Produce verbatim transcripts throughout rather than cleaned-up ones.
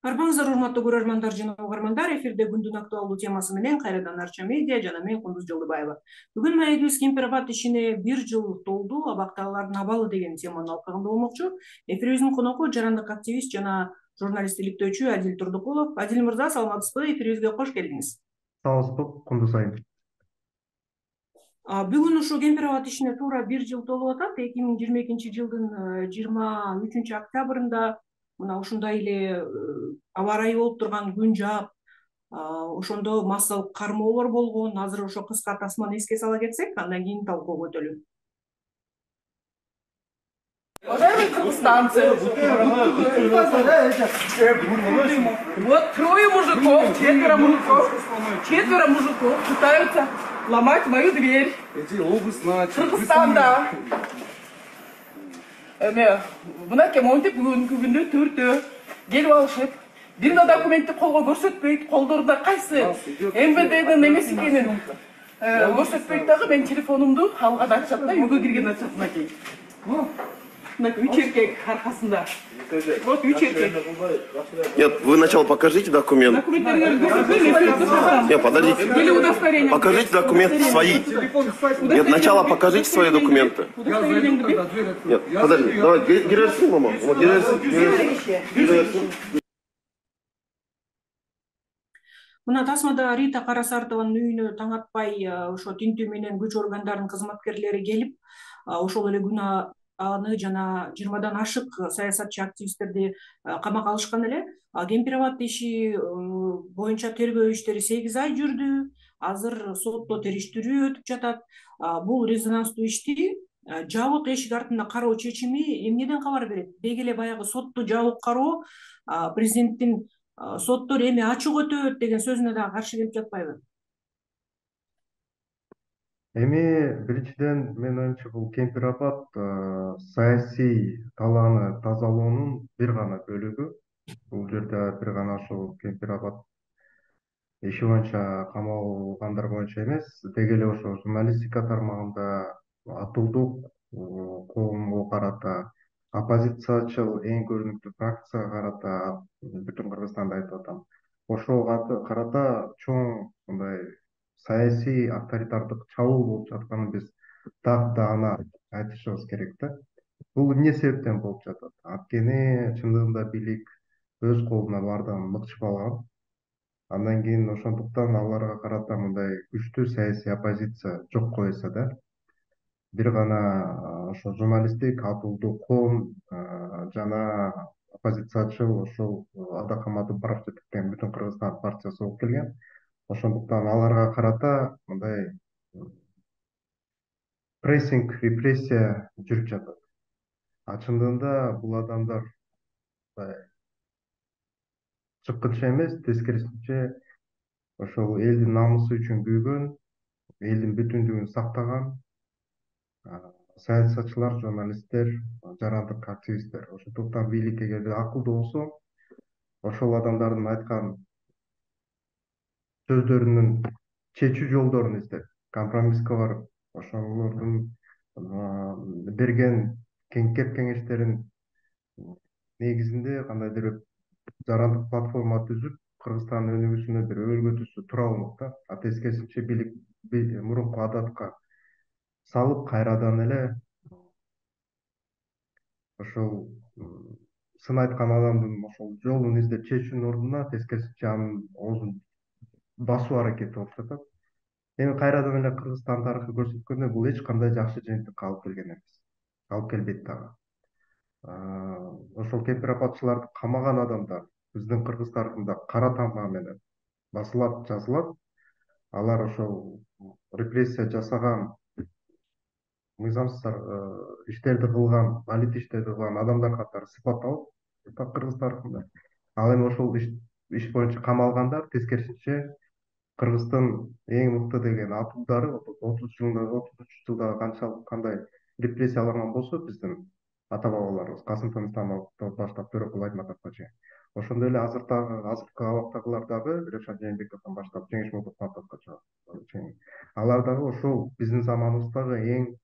Арбаңыздар урматтуу көрөрмандар жана угармандар, эфирде күндүн актуалдуу темасы менен кайрадан Арча медиа жана мен Кундуз Жолдубаева. Бүгүн маегибиз Кемпир-Абад ишине бир жыл толду, абактагылардын абалы деген теманын алкагында болмокчу. Эфирибиздин коногу жарандык активист жана журналист иликтөөчү Адил Турдукулов. Адил мырза, саламатсызбы? Эфирибизге кош келдиңиз. Саламатсызбы, Кундуз айым. Бүгүн ушул Кемпир-Абад ишине туура бир жыл толуп атат. эки миң жыйырма экинчи жылдын жыйырма үчүнчү октябрында мына ушундай эле аба ырайы болуп турган күн жаап, ошондо массалык кармоолор болгон. Азыр ошо кыска тасманы эске сала кетсек, андан кийин талкуога өтөлү. Уважаемые кыргызстанцы, вот трое мужиков, четверо мужиков, четверо мужиков пытаются ломать мою дверь. Эти областно. Кыргызстанда. Эме, мынакей монтип бүгүнкү күндө төртөө келип алышып, бир да документти колго көрсөтпөйт, колдорунда кайсы эм вэ дэнин эмеси экенин көрсөтпөйт дагы. Мен телефонумду алган ачат да, үйгө кирген ачат мынакей. Мынакей үч эркек аркасында. Вот үч эркек. Нет, вы сначала покажите документ. Документтериңерди көрсөтпөйм. Нет, подождите. Или удостоверение. Покажите документы свои. Нет, сначала покажите свои документы. Нет, подожди, давай, гирерсин, мама. Вот гирерсин, гирерсин. Мына тасмада Рита Карасартованын үйүнө таң атпай ошо тинтүү менен күч органдарынын кызматкерлери келип, ошол эле күнү аны жана жыйырмадан ашык саясатчы активисттерди камакка алышкан эле. Кемпир-Абад иши боюнча тергөө иштери сегиз ай жүрдү. Азыр сотто териштирүү өтүп жатат. Бул резонанстуу ишти жабык эшик артында кароо чечими эмнеден кабар берет? Деги эле баягы сотту жабык кароо президенттин соттор эми ачык өтөт деген сөзүнө дагы каршы келип жатпайбы? Эми биринчиден мен оюмча бул Кемпир-Абад саясий талааны тазалоонун бир гана бөлүгү. Бул жерде бир гана ошол Кемпир-Абад иши боюнча камалгандар боюнча эмес, деги эле ошо журналистика тармагында атылдык коомго карата, оппозициячыл эң көрүнүктүү фракцияга карата, бүтүн Кыргызстанда айтып атам, ошого карата чоң мындай саясий авторитардык чабуул болуп жатканын биз так даана айтышыбыз керек да. Бул эмне себептен болуп жатат? Анткени чындыгында бийлик өз колуна баардыгын мыкчып алган. Андан кийин ошондуктан аларга карата мындай күчтүү саясий оппозиция жокко эсе да. Бир гана ошо журналисттик атылдуу коом жана оппозициячыл ошол Ада Камадыбаров жетектеген Бүтүн Кыргызстан партиясы болуп келген. Ошондуктан аларга карата мындай прессинг, репрессия жүрүп жатат. А чындыгында бул адамдар чыккынча эмес, тескерисинче ошол элдин намысы үчүн күйгөн, элдин бүтүндүгүн сактаган саясатчылар, журналисттер, жарандык активисттер. Ошондуктан бийлик эгерде акылдуу болсо, ошол адамдардын айткан сөздөрүнүн чечүү жолдорун издеп, компромисске барып, ошолордун берген кеңкеп кеңештерин негизинде кандайдыр жарандык платформа түзүп, Кыргызстандын өнүгүүсүнө бир өбөлгө түзсө тура болмок да. А тескерисинче бийлик мурунку адатка салып, кайрадан эле ошол сын айткан адамдын ошол жолун издеп чечүүнүн ордуна тескерисинче анын оозун басуу аракети болуп жатат. Эми кайрадан эле Кыргызстан тарыхы көрсөткөндөй, бул эч кандай жакшы жыйынтыкка алып келген эмес. Алып келбейт дагы. Ошол Кемпир-Абадчыларды камаган адамдар биздин Кыргыз тарыхында кара тамга менен басылат, жазылат. Алар ошол репрессия жасаган, мыйзамсыз иштерди кылган, алит иштерди кылган адамдар катары сыпатталып Кыргыз тарыхында. Ал эми ошол иш боюнча камалгандар тескерисинче Кыргыздын эң мыкты деген атуулдары отуз жылда канчалык кандай репрессияланган болсо биздин ата бабаларыбыз Касым Тыныстамовдон баштап Төрөкул Айтматовго чейин. Ошондой эле азыркы азыркы абактагылар дагы Ревшан Жээнбековдон баштап Жеңиш Молдосуновго чейин. Алар дагы ошол биздин заманыбыздагы эң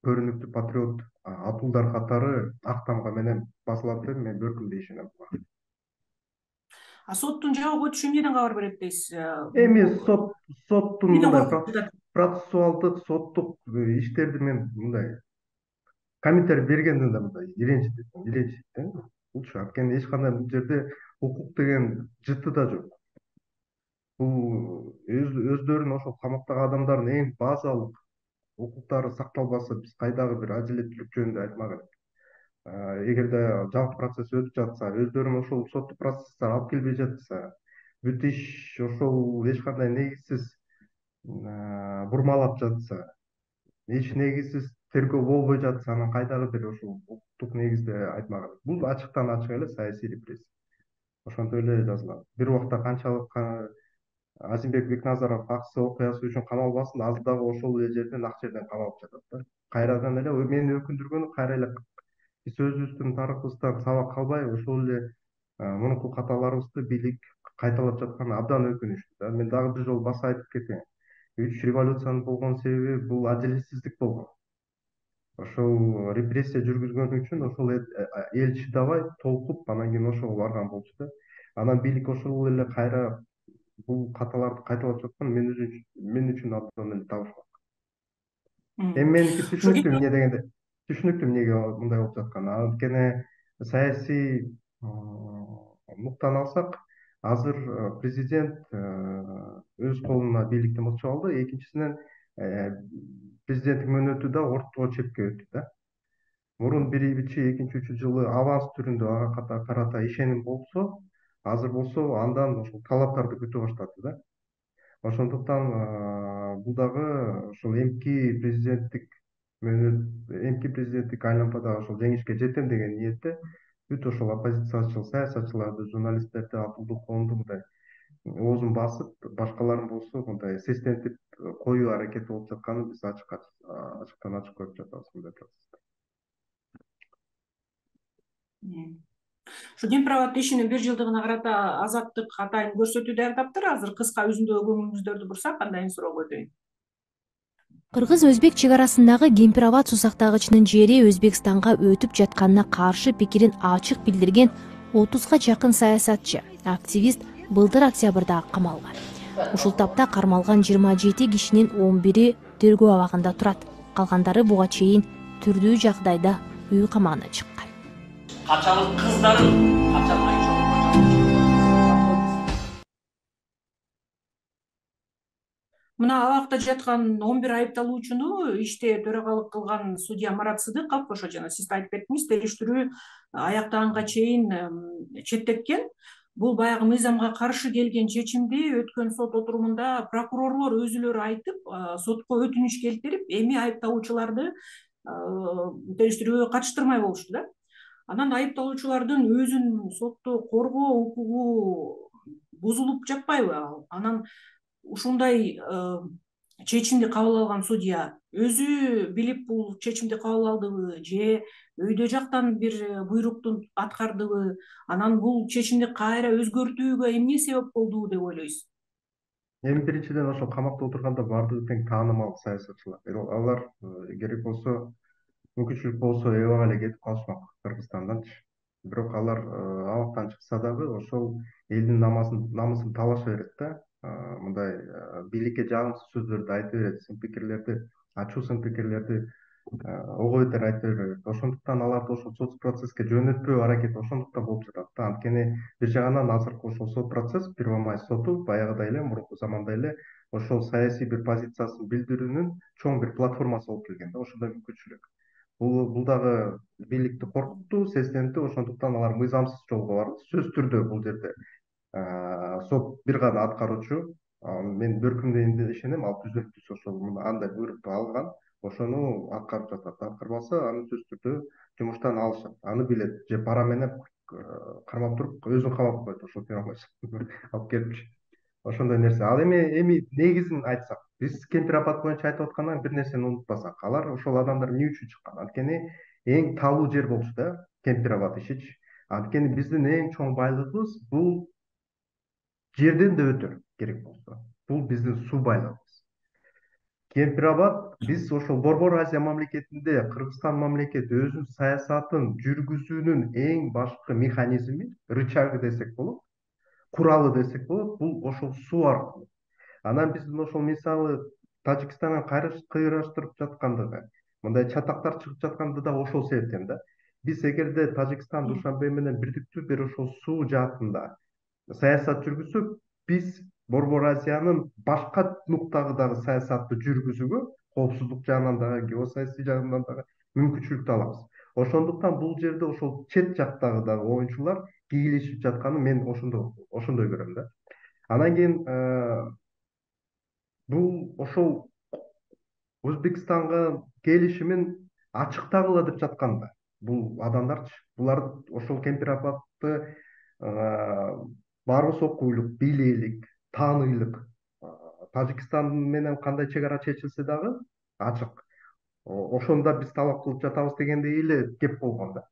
көрүнүктүү патриот атуулдар катары ак тамга менен басылат деп мен бөркүмдөй ишенем. А соттун жабып өтүшү эмнеден кабар берет дейсиз? Эми сот соттун Эмнеден мындай коркуп жатат? процессуалдык соттук иштерди мен мындай комментарий бергенде да мындай иренчитет иренчитет булчу. Анткени эч кандай бул жерде укук деген жыты да жок. Бул өздөрүнүн ошол камактагы адамдардын эң базалык укуктары сакталбаса, биз кайдагы бир адилеттүүлүк жөнүндө айтмак элек. Эгерде жалпы процесс өтүп жатса, өздөрүн ошол соттук процесстер алып келбей жатса, бүт иш ошол эч кандай негизсиз бурмалап жатса, эч негизсиз тергөө болбой жатса, анан кайдагы бир ошол укуктук негизде айтмак элек. Бул ачыктан ачык эле саясий репрессия. Ошентип эле жазылат. Бир убакта канчалык Азимбек Бекназаров аксы окуясы үчүн камалбасын, азыр дагы ошол эле жерден ак жерден камалып жатат да. Кайрадан эле мени өкүндүргөнү кайра эле биз өзүбүздүн тарыхыбыздан сабак албай ошол эле мурунку каталарыбызды бийлик кайталап жатканы абдан өкүнүчтүү да. Мен дагы бир жолу баса айтып кетейин. Үч революциянын болгон себеби бул адилетсиздик болгон. Ошол репрессия жүргүзгөн үчүн ошол эл чыдабай толкуп, анан кийин ошого барган болчу да. Анан бийлик ошол эле кайра бул каталарды кайталап жаткан мен үчүн мен үчүн абдан эле табышмак. Эми меники түшүнүктүү эмне дегенде, түшүнүктүү эмнеге мындай болуп жатканы. Анткени саясий нуктан алсак, азыр президент өз колуна бийликти мыкчып алды. Экинчисинен президенттик мөөнөтү да орто чепке өттү да. Мурун биринчи, экинчи, үчүнчү жылы аванс түрүндө ага карата ишеним болсо, азыр болсо андан ошол талаптарды күтө баштады да. Ошондуктан бул дагы ошол эмки президенттик мөөнөт, эмки президенттик айлампада ошол жеңишке жетем деген ниетте бүт ошол оппозициячыл саясатчыларды, журналисттерди, акылдуу коомду мындай оозун басып, башкаларын болсо мындай сестентип коюу аракети болуп жатканын биз ачык ачыктан ачык көрүп жатабыз мындай процессте. Ушу Кемпирабад ишинин бир жылдыгына карата Азаттык атайын көрсөтүү даярдаптыр. Азыр кыска үзүндөгү көңүлүңүздөрдү бурсак, андан кийин суроого өтөйүн. Кыргыз-өзбек чек арасындагы Кемпирабад сусактагычынын жери Өзбекстанга өтүп жатканына каршы пикирин ачык билдирген отузга жакын саясатчы, активист былтыр октябрда камалган. Ушул тапта кармалган жыйырма жети кишинин он бири тергөө абагында турат. Калгандары буга чейин түрдүү жагдайда үй камагына чыккан. Качалык кыздарын качалмай Мына абакта жаткан он бир айыпталуучуну иште төрагалык кылган судья Марат Сыдыков, ошо жана сиз айтып кеттиңиз, териштирүү аяктаганга чейин четтеткен. Бул баягы мыйзамга каршы келген чечимди өткөн сот отурумунда прокурорлор өзүлөрү айтып, сотко өтүнүч келтирип, эми айыпталуучуларды териштирүүгө катыштырмай болушту да. Анан айыпталуучулардын өзүн сотто коргоо укугу бузулуп жатпайбы? Анан ушундай чечимди кабыл алган судья өзү билип бул чечимди кабыл алдыбы же өйдө жактан бир буйрукту аткардыбы? Анан бул чечимди кайра өзгөртүүгө эмне себеп болду деп ойлойсуз? Эми биринчиден ошол камакта отурганда баардыгы тең таанымал саясатчылар. Алар керек болсо мүмкүнчүлүк болсо эбак эле кетип калышмак Кыргызстанданчы. Бирок алар абактан чыкса дагы ошол элдин намысын талаша берет да. Мындай бийликке жагымсыз сөздөрдү айта берет, сын пикирлерди, ачуу сын пикирлерди ого бетер айта берет. Ошондуктан аларды ошол сот процесске жөнөтпөө аракети ошондуктан болуп жатат да. Анткени бир жагынан азыркы ошол сот процесс, Первомай соту баягыдай эле, мурунку замандай эле ошол саясий бир позициясын билдирүүнүн чоң бир платформасы болуп келген да. Ошондой мүмкүнчүлүк. Бул бул дагы бийликти коркутту, сестентти. Ошондуктан алар мыйзамсыз жолго барды. Сөзсүз түрдө бул жерде сот бир гана аткаруучу, мен бөркүмдө ишенем, ал түзөтүүсү ошол андай буйрукту алган, ошону аткарып жатат. Аткарбаса, аны сөзсүз түрдө жумуштан алышат. Аны билет, же пара менен кармап туруп өзүн камап коет, ошол алып келипчи. Ошондой нерсе. Ал эми эми негизин айтсак, биз Кемпирабад боюнча айтып аткандан бир нерсени унутпасак, алар ошол адамдар эмне үчүн чыккан? Анткени эң талуу жер болчу да, Кемпирабад ишичи. Анткени биздин эң чоң байлыгыбыз бул жерден да өтө керек болсо. Бул биздин суу байлыгыбыз. Кемпирабад биз ошол Борбор Азия мамлекетинде Кыргызстан мамлекети өзүнүн саясатын жүргүзүүнүн эң башкы механизми, рычагы десек болот. куралы десек болот, бул ошол суу аркылуу. Анан биздин ошол мисалы Тажикстанга кыйраштырып жаткандыгы, мындай чатактар чыгып жаткандыгы да ошол себептен да. Биз эгерде Тажикстан Душанбе менен бирдиктүү бир ошол суу жаатында саясат жүргүзсөк, биз Борбор Азиянын башка нуктагы саясатты жүргүзүүгө, коопсуздук жагынан дагы, геосаясий жагынан дагы мүмкүнчүлүктү алабыз. Ошондуктан бул жерде ошол чет жактагы дагы оюнчулар кийлешип жатканын мен ошондой ошондой көрөм да. Анан кийин бул ошол Өзбекстанга келишимин ачыктагыла деп жатканда, бул адамдарчы, булар ошол Кемпирабадты барыбыз окуйлук, бийлейлик, тааныйлык. Тажикстан менен кандай чек ара чечилсе дагы ачык. Ошондо биз талап кылып жатабыз дегендей эле кеп болгон да.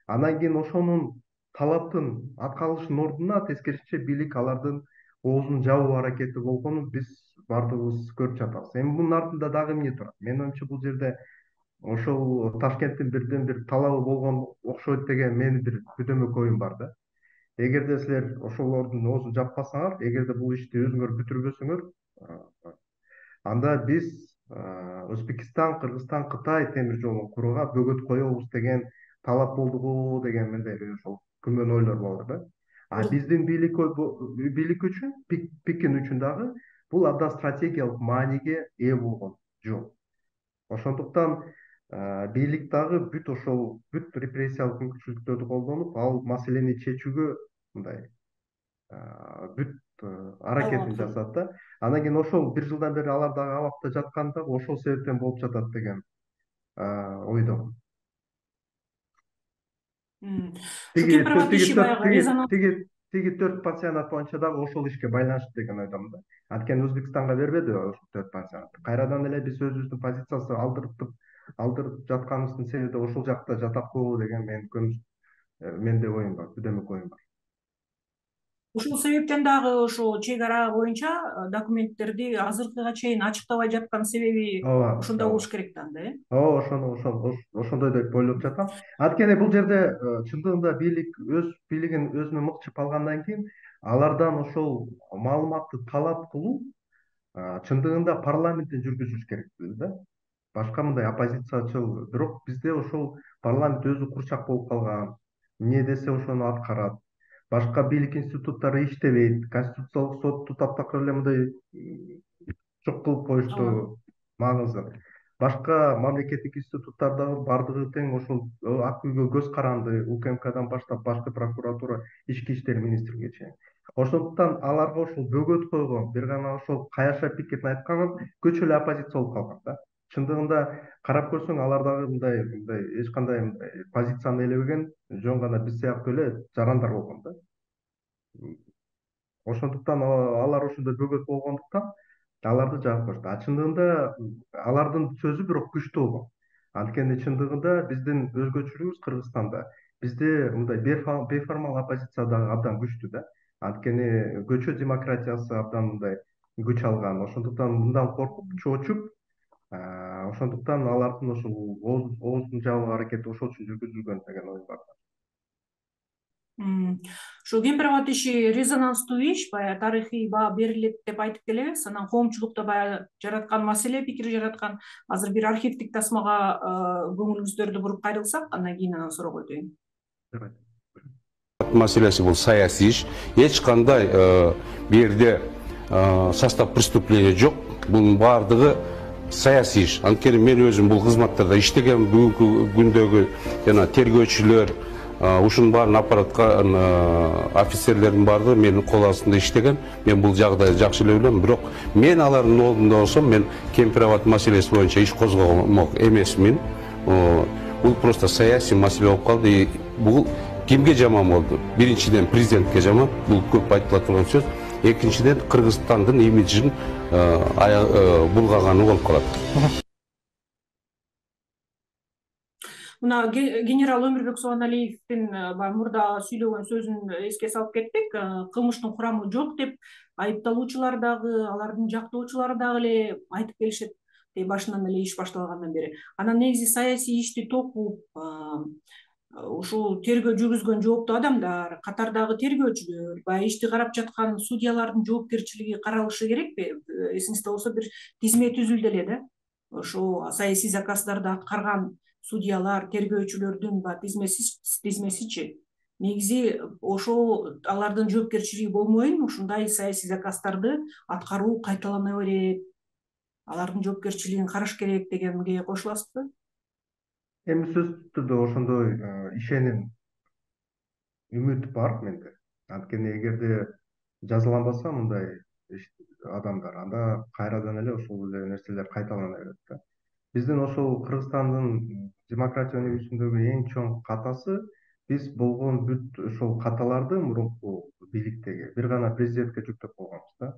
Анан кийин ошонун талаптын аткарылышынын ордуна тескерисинче бийлик алардын оозун жабуу аракети болгонун биз баардыгыбыз көрүп жатабыз. Эми мунун артында дагы эмне турат? Менин оюмча бул жерде ошол Ташкенттин бирден бир талабы болгон окшойт деген менин бир күндөмдүк оюм бар да. Эгерде силер ошолордун оозун жаппасаңар, эгерде бул ишти өзүңөр бүтүрбөсөңөр, анда биз Өзбекстан, Кыргызстан, Кытай темир жолун курууга бөгөт коебуз деген талап болду го деген мындай ошол күмөн ойлор болор да. А биздин бийлик бийлик үчүн, Пекин үчүн дагы бул абдан стратегиялык мааниге ээ болгон жол. Ошондуктан бийлик дагы бүт ошол бүт репрессиялык мүмкүнчүлүктөрдү колдонуп, ал маселени чечүүгө мындай бүт аракетин жасат да. Анан кийин ошол бир жылдан бери алар дагы абакта жатканда ошол себептен болуп жатат деген ойдомун. Тиги төрт пансионат боюнча дагы ошол ишке байланыштуу деген ойдомун да. Анткени Өзбекстанга бербеди ошол төрт пансионатты. Кайрадан эле биз өзүбүздүн позициясы алдыртып алдырып жатканыбыздын себеби ошол жакта жатат го деген менин менде оюм бар, күндөмдүк оюм бар. Ушул себептен дагы ошо чек ара боюнча документтерди азыркыга чейин ачыктабай жаткан себеби ошондо болуш керек да анда, э? Ооба, ошону ошол ошондой деп ойлоп жатам. Анткени бул жерде чындыгында бийлик өз бийлигин өзүнө мыкчып алгандан кийин алардан ошол маалыматты талап кылуу чындыгында парламенттен жүргүзүлүш керек да. Башка мындай оппозициячыл, бирок бизде ошол парламент өзү курчак болуп калган. Эмне десе ошону аткарат. Башка бийлик институттары иштебейт. Конституциялык сотту таптакыр эле мындай жок кылып коюшту, маңызы. Башка мамлекеттик институттар дагы бардыгы тең ошол ак үйгө көз каранды, УКМКдан баштап башкы прокуратура, ички иштер министрлиги чейин. Ошондуктан аларга ошол бөгөт койгон, бир гана ошол каяша пикирин айткан көчө эле оппозиция болуп калган да. Чындыгында карап көрсөң алар дагы мындай мындай эч кандай мындай позицияны элебеген, жөн гана биз сыяктуу эле жарандар болгон да. Ошондуктан алар ошондой бөгөт болгондуктан аларды жаап коюшту. А чындыгында алардын сөзү бирок күчтүү болгон. Анткени чындыгында биздин өзгөчөлүгүбүз Кыргызстанда бизде мындай бейформал оппозиция дагы абдан күчтүү да. Анткени көчө демократиясы абдан мындай күч алган. Ошондуктан мындан коркуп, чоочуп, ошондуктан алардын ошол оозун жабуу аракети ошол үчүн жүргүзүлгөн деген оюм бар. Ушул Кемпирабад иши резонанстуу иш, баягы тарыхый баа берилет деп айтып келебиз. Анан коомчулукта баягы жараткан маселе, пикир жараткан. Азыр бир архивдик тасмага көңүлүңүздөрдү буруп кайрылсак, андан кийин анан суроого өтөйүн. Маселеси бул саясий иш. Эч кандай бу жерде состав преступления жок. Бунун баардыгы саясий иш. Анткени мен өзүм бул кызматтарда иштеген, бүгүнкү күндөгү жана тергөөчүлөр, ушунун баарын аппараткан офицерлердин баардыгы менин кол астында иштеген. Мен бул жагдайды жакшы эле билем, бирок мен алардын ордунда болсом, мен Кемпирабад маселеси боюнча иш козгомок эмесмин. Бул просто саясий маселе болуп калды. Бул кимге жаман болду? Биринчиден президентке жаман, бул көп айтыла турган сөз. Экинчиден Кыргызстандын имиджин булгаганы болуп калат. Мына генерал Өмүрбек Субаналиевдин баягы мурда сүйлөгөн сөзүн эске салып кеттик. Кылмыштын курамы жок деп айыпталуучулар дагы, алардын жактоочулары дагы эле айтып келишет. Башынан эле иш башталгандан бери. Анан негизи саясий ишти токуп, ушул тергөө жүргүзгөн жооптуу адамдар, катардагы тергөөчүлөр, баягы ишти карап жаткан судьялардын жоопкерчилиги каралышы керекпи? Эсиңизде болсо бир тизме түзүлдү эле да. Ошо саясий заказдарды аткарган судьялар, тергөөчүлөрдүн баягы тизмеси тизмесичи негизи ошол алардын жоопкерчилиги болбойн ушундай саясий заказдарды аткаруу кайталана берет, алардын жоопкерчилигин караш керек дегенге кошуласызбы? Эми сөзсүз түрдө ошондой ишеним, үмүт бар менде. Анткени эгерде жазаланбаса мындай адамдар, анда кайрадан эле ошол эле нерселер кайталана берет да. Биздин ошол Кыргызстандын демократия өнүгүүсүндөгү эң чоң катасы биз болгон бүт ошол каталарды мурунку бийликтеги бир гана президентке жүктөп койгонбуз да.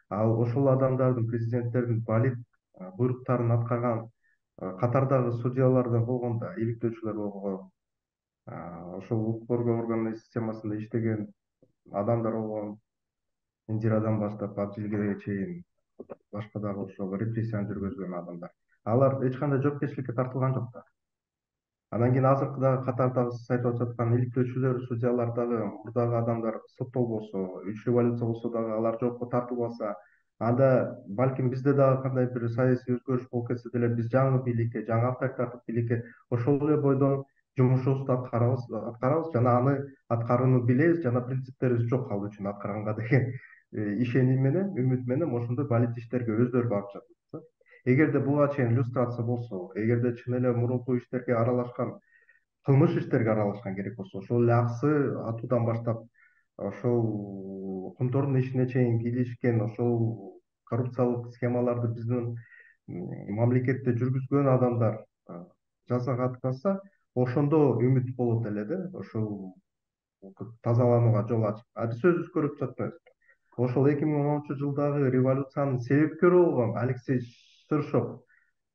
Ал ошол адамдардын, президенттердин балит буйруктарын аткарган катардагы судьялардан болгон да, иликтөөчүлөр болгон, ошол укук коргоо органы системасында иштеген адамдар болгон, Индирадан баштап Абдилге чейин башка дагы ошол репрессияны жүргүзгөн адамдар. Алар эч кандай жоопкерчиликке тартылган жок да. Анан кийин азыркы дагы катардагы сиз айтып жаткан иликтөөчүлөр, судьялар дагы, мурдагы адамдар соттолбосо, үч революция болсо дагы алар жоопко тартылбаса, анда балким бизде дагы кандай бир саясий өзгөрүш болуп кетсе деле биз жаңы бийликке, жаңы авторитардык бийликке ошол эле бойдон жумушубузду аткарабыз, аткарабыз жана аны аткарууну билебиз жана принциптерибиз жок ал үчүн аткарганга деген ишеним менен, үмүт менен ошондой балит иштерге өздөрү барып жатат. Эгерде буга чейин иллюстрация болсо, эгерде чын эле мурунку иштерге аралашкан, кылмыш иштерге аралашкан керек болсо, ошол эле аксы атуудан баштап ошол кумтордун ишине чейин кийлишкен, ошол коррупциялык схемаларды биздин мамлекетте жүргүзгөн адамдар жазага аткарса, ошондо үмүт болот эле да, ошол тазаланууга жол ачып. А биз сөзсүз көрүп жатпайбызбы? Ошол эки миң он онунчу жылдагы революциянын себепкери болгон Алексей Шершов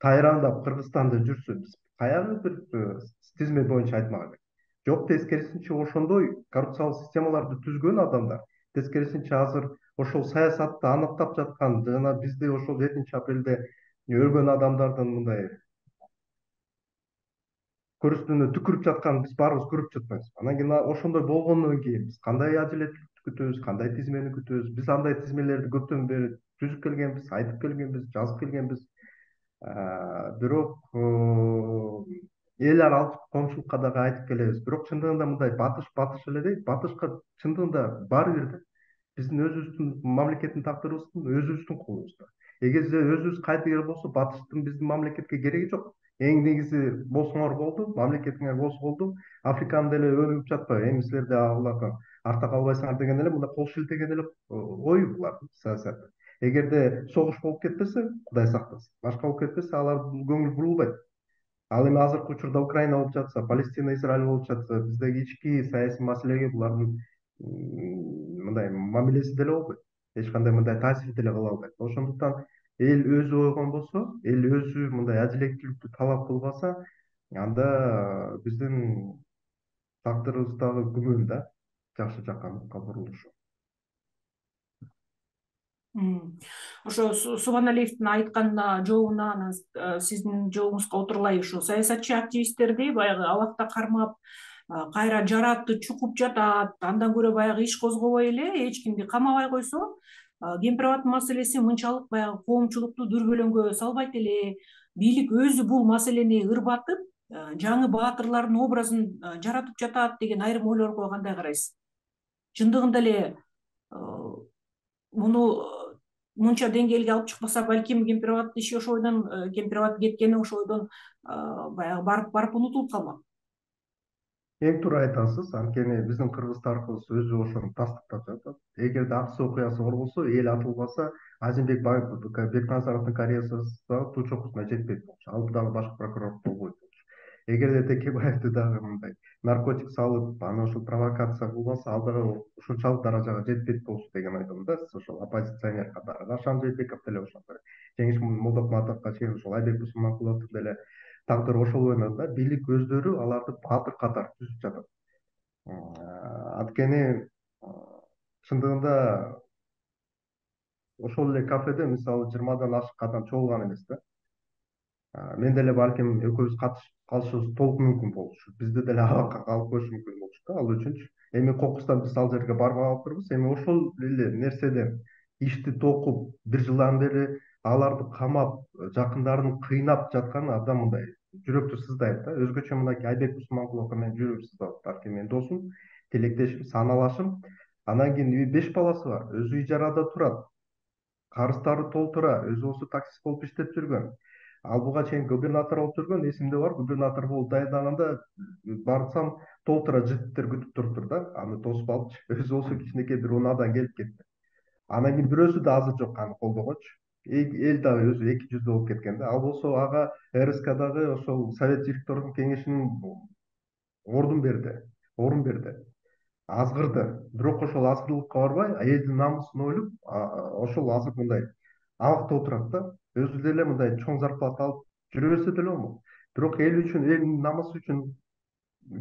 тайрандап Кыргызстанда жүрсө, биз каягы бир тизме боюнча айтмак элек. Жок, тескерисинче ошондой коррупциялык системаларды түзгөн адамдар, тескерисинче азыр ошол саясатты аныктап жаткан жана бизди ошол жетинчи апрелде өлгөн адамдардын мындай көрүстүнө түкүрүп жатканын биз баарыбыз көрүп жатпайбызбы? Анан кийин ошондой болгондон кийин биз кандай адилеттүүлүктү күтөбүз, кандай тизмени күтөбүз? Биз андай тизмелерди көптөн бери түзүп келгенбиз, айтып келгенбиз, жазып келгенбиз. Бирок эл аралык коомчулукка дагы айтып келебиз. Бирок чындыгында мындай батыш батыш эле дейт. Батышка чындыгында баары бир да. Биздин өзүбүздүн мамлекеттин тагдырыбыздын өзүбүздүн колубузда. Эгерде өзүбүз кайтыгер болсо, батыштын биздин мамлекетке кереги жок. Эң негизи болсоңор болду, мамлекетиңер болсо болду. Африканы деле өнүгүп жатпайбы? Эми силер да аларга артта калбайсыңар деген эле мындай кол шилтеген эле ой булардын саясаты. Эгерде согуш болуп кетпесе, Кудай сактасын, башка болуп кетпесе, алар көңүл бурулбайт. Ал эми азыркы учурда Украина болуп жатса, Палестина, Израиль болуп жатса, биздеги ички саясий маселеге булардын мындай мамилеси деле болбойт. Эч кандай мындай таасир деле кыла албайт. Ошондуктан эл өзү ойгон болсо, эл өзү мындай адилеттүүлүктү талап кылбаса, анда биздин тагдырыбыз дагы күмөн да, жакшы жакка бурулушу. Ошо Субаналиевдин айткан жообуна анан сиздин жообуңузга отурулай, ушу саясатчы активисттерди баягы абакта кармап, кайра жаратты чукуп жатат, андан көрө баягы иш козгобой эле эч кимди камабай койсо, Кемпир-Абад маселеси мынчалык баягы коомчулукту дүрбөлөңгө салбайт эле. Бийлик өзү бул маселени ырбатып, жаңы баатырлардын образын жаратып жатат деген айрым ойлорго кандай карайсыз? Чындыгында эле муну мынча деңгээлге алып чыкпаса, балким Кемпир-Абад иши ошол бойдон, Кемпир-Абад кеткени ошол бойдон баягы барып барып унутулуп калмак. Эң туура айтасыз, анткени биздин кыргыз тарыхыбыз өзү ошону тастыктап жатат. Эгерде аксы окуясы бар болсо, эл атылбаса, Азимбек Бекназаровдун карьерасы дагы туу чокусуна жетпейт болчу. Ал дагы баш прокурор болбойт болчу. Эгерде Текебаевди дагы мындай наркотик салып, аны ошол провокация кылбаса, ал дагы ушунчалык даражага жетпейт болчу деген ойдомун да. Сиз ошол оппозиционер катары. Рашан Жээнбеков деле ошондой. Жеңиш Молдокматовго чейин ошол Айбек Бусманкуловдун деле тагдыры ошол бойдон да. Бийлик өздөрү аларды баатыр катары түзүп жатат. Анткени чындыгында ошол эле кафеде мисалы жыйырмадан ашык адам чогулган эмес да. Мен деле балким экөөбүз катышып калышыбыз толук мүмкүн болчу. Бизде деле абакка калып коюшу мүмкүн болчу да ал үчүнчү. Эми кокустан биз ал жерге барбай калыптырбыз. Эми ошол эле нерседен ишти токуп бир жылдан бери аларды камап, жакындарын кыйнап жаткан абдан мындай жүрөктү сыздайт да. Өзгөчө мынакей Айбек Усманкуловго менин жүрөгүм сыздап, балким менин досум, тилектешим, саналашым. Анан кийин беш баласы бар, өзү ижарада турат, карыздары толтура, өзү болсо таксист болуп иштеп жүргөн. Ал буга чейин губернатор болуп жүргөн, эсимде бар. Губернатор болуп даярдаганда барсам толтура жигиттер күтүп туруптур да. Аны тосуп алыпчы. Өзү болсо кичинекей бир унаадан келип кетти. Анан кийин бирөөсү да азыр жок аны колдогочу. Эл дагы өзү эки жүздүү болуп кеткен да. Ал болсо ага РСКдагы ошол совет директордун кеңешинин ордун берди, орун берди. Азгырды. Бирок ошол азгырдыкка барбай, элдин намысын ойлоп, ошол азыр мындай абакта отурат да. Өзү деле мындай чоң зарплата алып жүрө берсе деле болмок. Бирок эл үчүн, элдин намысы үчүн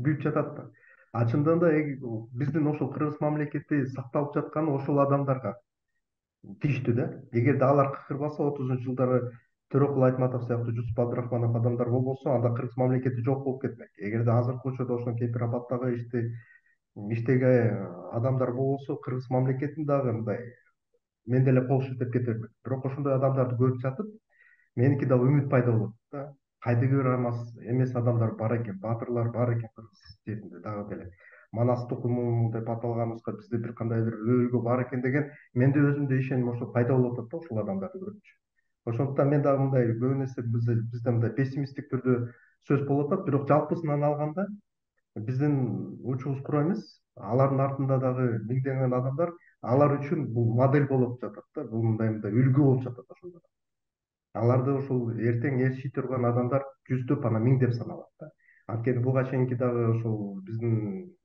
күйүп жатат да. А чындыгында да биздин ошол кыргыз мамлекети сакталып жатканы ошол адамдарга тийиштүү да. Эгерде алар кыкырбаса, отузунчу жылдары Төрөкул Айтматов сыяктуу, Жусуп Абдрахманов адамдар болбосо, анда кыргыз мамлекети жок болуп кетмек. Эгерде азыркы учурда ошол Кемпир-Абаддагы ишти иштеген адамдар болбосо, кыргыз мамлекетин дагы мындай мен деле кол шилтеп кете бермек. Бирок ошондой адамдарды көрүп жатып, меники дагы үмүт пайда болот да. Кайдыгер эмес адамдар бар экен, баатырлар бар экен кыргыз жеринде дагы деле. Манас тукуму деп аталганыбызга бизде бир кандай бир өбөлгө бар экен деген менде өзүмдө ишеним ошо пайда болуп атат да ошол адамдарды көрүпчү. Ошондуктан мен дагы мындай көбү нерсе бизде мындай пессимисттик түрдө сөз болуп атат, бирок жалпысынан алганда биздин учубуз кура эмес, алардын артында дагы миңдеген адамдар, алар үчүн бул модель болуп жатат да, бул мындай мындай үлгү болуп жатат ошондор. Аларды ошол эртең эл чийте турган адамдар жүздөп анан миңдеп саналат да. Анткени буга чейинки дагы ошол биздин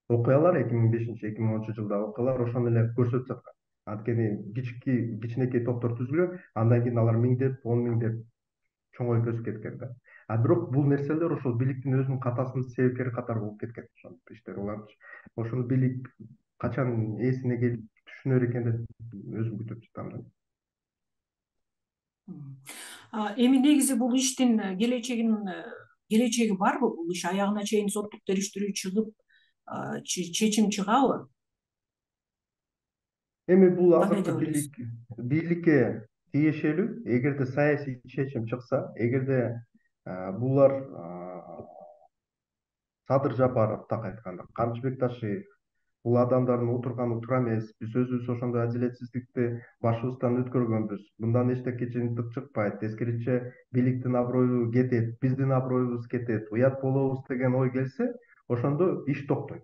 окуялар эки миң бешинчи эки миң онунчу жылдагы окуялар ошону эле көрсөтүп жаткан. Анткени кички кичинекей топтор түзүлгөн, андан кийин алар миңдеп, он миңдеп чоңоюп өсүп кеткен да. А бирок бул нерселер ошол бийликтин өзүнүн катасынын себепкери катары болуп кеткен ошол иштер. Улар ошол бийлик качан эсине келип түшүнөр экен деп өзүм күтүп жатам да. Эми негизи бул иштин келечегин келечеги барбы? Бул иш аягына чейин соттук териштирүү чыгып, чечим чыгабы? Эми бул азыркы бийлик бийликке тиешелүү. Эгерде саясий чечим чыкса, эгерде булар Садыр Жапаров так айтканда, Камчыбек Ташиев бул адамдардын отурганы туура эмес. Биз өзүбүз ошондой адилетсиздикти башыбыздан өткөргөнбүз. Мындан эчтеке жыйынтык чыкпайт. Тескерисинче бийликтин аброю кетет, биздин аброюбуз кетет, уят болобуз деген ой келсе, ошондо иш токтойт.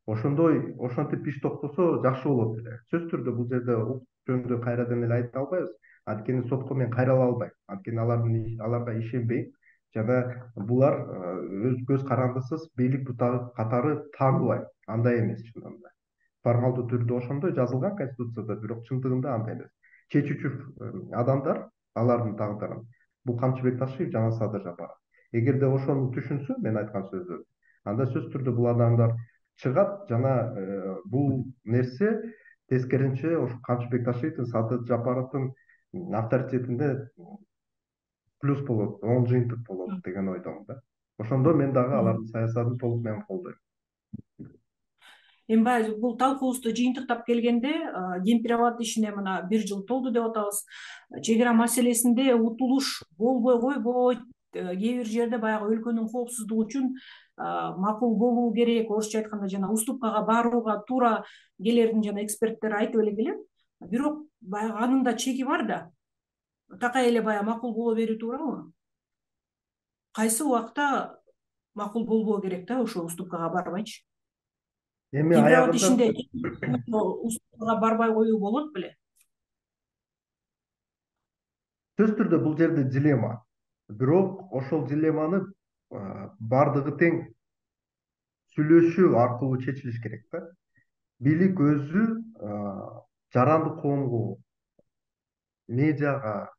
Ошондой ошентип иш токтосо жакшы болот эле. Сөзсүз түрдө бул жерде укук жөнүндө кайрадан эле айта албайбыз. Анткени сотко мен кайрыла албайм. Анткени алардын аларга ишенбейм. Жана булар өз көз карандысыз бийлик катары тааныбайм. Андай эмес чындыгында. Формалдуу түрдө ошондой жазылган Конституцияда, бирок чындыгында андай эмес. Чечүүчү адамдар, алардын тагдырын бул Камчыбек Ташиев жана Садыр Жапаров. Эгерде ошону түшүнсө, мен айткан сөздөр, анда сөзсүз түрдө бул адамдар чыгат жана бул нерсе тескерисинче ошо Камчыбек Ташиевдин, Садыр Жапаровдун авторитетинде плюс болот, оң жыйынтык болот деген ойдомун да. Ошондо мен дагы алардын саясатын толук менен колдойм. Эми баягы бул талкуубузду жыйынтыктап келгенде, Кемпир-Абад ишине мына бир жыл толду деп атабыз. Чек ара маселесинде утулуш болбой койбойт. Кээ бир жерде баягы өлкөнүн коопсуздугу үчүн макул болуу керек, орусча айтканда жана уступкага барууга туура келерин жана эксперттер айтып эле келет. Бирок баягы анын да чеги бар да. Такай эле баягы макул боло берүү туурабы? Кайсы убакта макул болбоо керек да, ошо уступкага барбайчы? Эми аягында ишинде уступкага барбай коюу болот беле? Сөзсүз түрдө бул жерде дилемма. Бирок ошол дилемманы бардыгы тең сүйлөшүү аркылуу чечилиш керек да. Бийлик өзү жарандык коомго, медиага,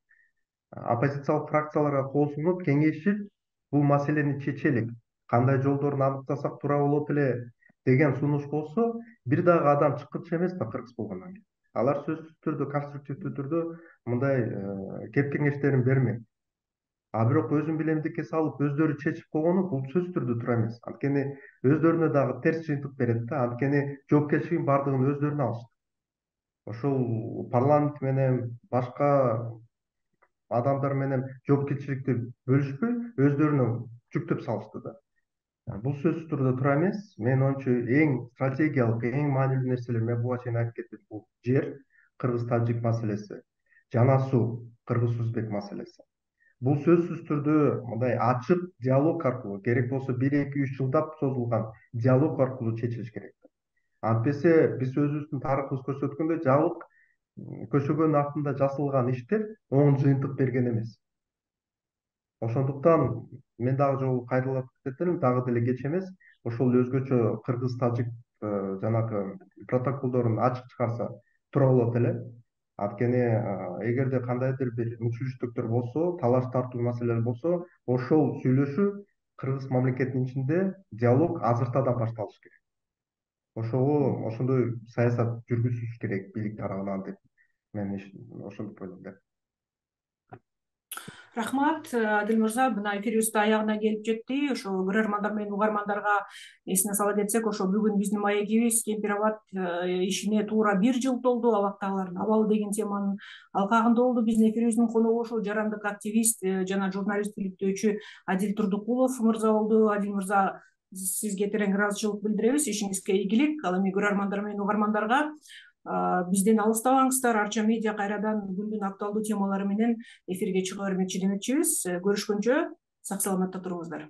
оппозициялык фракцияларга кол сунуп кеңешип, бул маселени чечелик, кандай жолдорун аныктасак туура болот эле деген сунуш болсо, бир дагы адам чыккычы эмес да кыргыз болгондон кийин. алар сөзсүз түрдө конструктивдүү түрдө мындай кеп кеңештерин бермек. А бирок өзүм билемдикке салып өздөрү чечип койгону бул сөзсүз түрдө туура эмес. Анткени өздөрүнө дагы терс жыйынтык берет да. Анткени жоопкерчилигин баардыгын өздөрүнө алышты. Ошол парламент менен башка адамдар менен жоопкерчиликти бөлүшпөй өздөрүнө жүктөп салышты да. Бул сөзсүз түрдө туура эмес. Менин оюмча эң стратегиялык, эң маанилүү нерселер мен буга чейин айтып кеттим. Бул жер, кыргыз-тажик маселеси, жана суу, кыргыз-өзбек маселеси. Бул сөзсүз түрдө мындай ачык диалог аркылуу, керек болсо бир эки үч жылдап созулган диалог аркылуу чечилиш керек. Антпесе биз өзүбүздүн тарыхыбыз көрсөткөндөй жабык көшөгөнүн артында жасалган иштер оң жыйынтык берген эмес. Ошондуктан мен дагы жолу кайрылып кетем, дагы деле кеч эмес. Ошол өзгөчө кыргыз-тажик жанагы протоколдорун ачык чыгарса туура болот эле. Анткени эгерде кандайдыр бир мүчүлүштүктөр болсо, талаш тартуу маселелер болсо, ошол сүйлөшүү кыргыз мамлекетинин ичинде диалог азыртадан башталыш керек. Ошого ошондой саясат жүргүзүлүш керек бийлик тарабынан деп мен ошондой ойлойм. Рахмат, Адил мырза, мына эфирибиз да аягына келип жетти. Ошо көрөрмандар менен угармандарга эсине сала кетсек, ошо бүгүн биздин маегибиз Кемпир абад ишине туура бир жыл толду. Абактагылардын абалы деген теманын алкагында болду. Биздин эфирибиздин коногу ошо жарандык активист жана журналист иликтөөчү Адил Турдукулов мырза болду. Адил мырза, сизге терең ыраазычылык билдиребиз. Ишиңизге ийгилик. Ал эми көрөрмандар менен угармандарга бизден алыстабаңыздар. Арча медиа кайрадан күндүн актуалдуу темалары менен эфирге чыга бермекчи демекчибиз. Көрүшкөнчө сак саламатта туруңуздар.